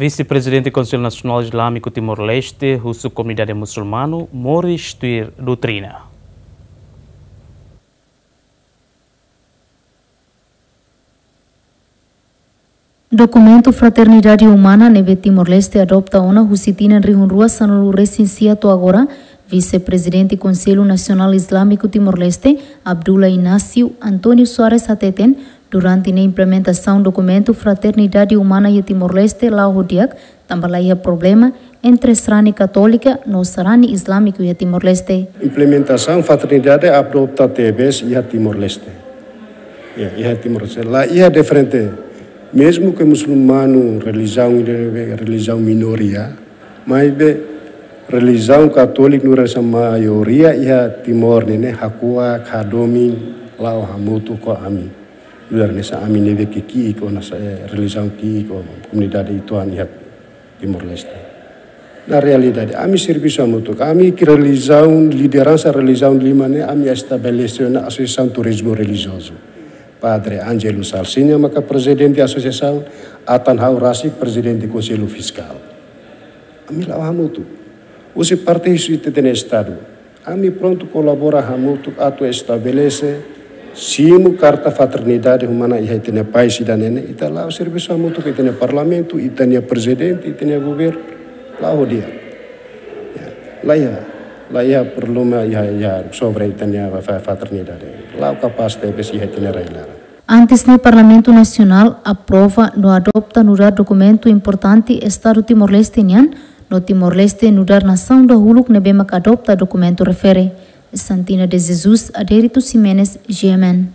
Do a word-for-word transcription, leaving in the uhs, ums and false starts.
Vise-Prezidente Konsellu Nasionál Izlámiku Timor-Leste husu komunidade musulmanu moris tuir doutrina. Dokumentu Fraternidade Umana ne'ebé Timor-Leste adopta ona husi tinan rihun rua sanulu resin sia to'o agora, Vise-Prezidente Konsellu Nasionál Izlámiku Timor-Leste, Abdullah Inácio António Soares hateten, durante ne'e implementasaun dokumentu Fraternidade Umana iha Timor-Leste la'o ho di'ak, tanba la iha problema entre sarani katólika no sarani izlámiku iha Timor-Leste. Implementasaun Fraternidade adopta tebes iha Timor-Leste. Ya, iha Timor-Leste. La iha diferente, mezmu ke musulmanu relijiaun, relijiaun minoria, maibé relijiaun katólika no relijiaun maioria iha Timor ne'e, ne'e hakuak, hadomi, la'o hamutuk ho ami. Nu'udar hanesan ami ne'ebé ke ki'ik ona, eh, relijiaun ki'ik ona, komunidade uitoan iha Timor-Leste. Na realidade, ami servisu hamutuk, ami ke relijiaun, lideransa relijiaun lima ne'e, ami estabelese ona Asosiasaun Turizmu Relijiozu. Padre Ângelo Salsinha maka prezidente asosiasaun, atan ha'u rasik prezidente Konsellu Fiskál. Ami la'o hamutuk. Husi parte husi ita-nia Estadu, ami prontu kolabora hamutuk atu estabelese, simu karta fraternidade umana iha ita-nia país ida-ne'e ne'e, ita la'o servisu hamutuk ho ita-nia parlamentu, ita-nia prezidente, ita-nia governu, la'o ho di'ak. Ya, la iha, la iha problema iha, iha sobre ita-nia fa-, fraternidade. La'o kapás tebes iha ita-nia rai-laran. Antes ne'e Parlamentu Nasionál aprova no adopta nu'udar dokumentu importante Estadu Timor-Leste nian, no Timor-Leste nu'udar nasaun dahuluk ne'ebé maka adopta dokumentu refere. Santina de Jesus, Adérito Ximenes, G M N.